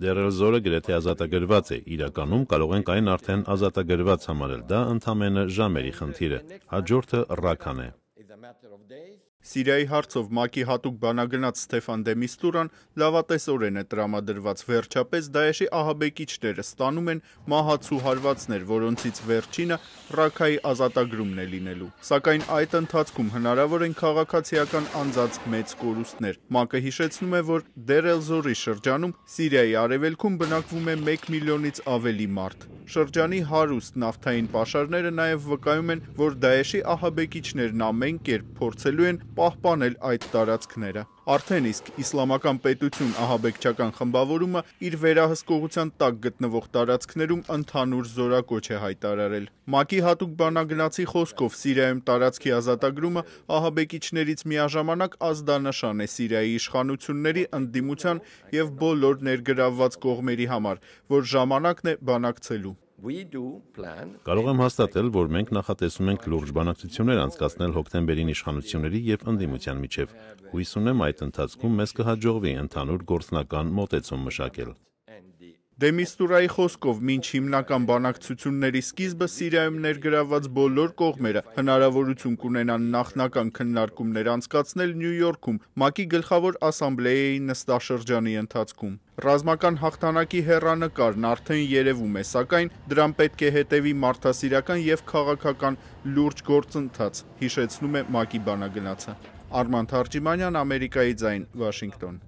Դեր Էլ-Զորը գրեթե ազատագրված է, իրականում կարող ենք այն արդեն ազատագրված համարել, դա ընդամենը ժամերի խնդիր է, հաջորդը Ռաքքան է։ Սիրիայի հարցով ՄԱԿ-ի հատուկ բանագնաց Ստեֆան դե Միստուրան լավատեսորեն է տրամադրված, վերջապես Դաեշի ահաբեկիչները ստանում են մահացու հարվածներ, որոնցից վերջինը Ռաքքայի ազատագրումն է լինելու։ Սակայն այդ ընթացքում հնարավոր են քաղաքացիական անձանց մեծ կորուստներ։ ՄԱԿ-ը հիշեցնում է, որ Դեր Էլ-Զորի շրջանում Սիրիայի արևելքում բնակվում է 1 միլիոնից ավելի մարդ։ Շրջանի հարուստ նավթային պաշարները նաև վկայում են, որ Դաեշի ահաբեկիչներն ամեն կերպ փորձելու են պահպանել այդ տարածքները։ Արդեն իսկ Իսլամական պետություն ահաբեկչական խմբավորումը իր վերահսկողության տակ գտնվող տարածքներում ընդհանուր զորակոչ է հայտարարել։ ՄԱԿ-ի հատուկ բանագնացի խոսքով Սիրիայում տարածքի ազատագրումը ահաբեկիչներից միաժամանակ ազդանշան է Սիրիայի իշխանությունների ընդդիմության և բոլոր ներգրավված կողմերի համար, որ ժամանակն է բանակցելու։ Կարող եմ հաստատել, որ մենք նախատեսում ենք լուրջ բանակցություններ անցկացնել հոկտեմբերին իշխանությունների և ընդդիմության միջև։ Հույս ունեմ այդ ընթացքում մեզ կհաջողվի ընդհանուր գործնական մոտեցում մշակել։ Դե Միստուրայի խոսքով մինչ հիմնական բանակցությունների սկիզբը Սիրիայում ներգրավված բոլոր կողմերը հնարավորություն կունենան նախնական քննարկումներ անցկացնել Նյու Յորքում ՄԱԿ-ի գլխավոր ասամբլեայի նստաշրջանի ընթացքում։ Ռազմական հաղթանակի հեռանկարն արդեն երևում է, սակայն դրան պետք է հետևի մարդասիրական և քաղաքական լուրջ գործընթաց, հիշեցնում է ՄԱԿ-ի բանագնացը։ Արման Թարջիմանյան, Ամերիկայի ձայն, Վաշինգտոն։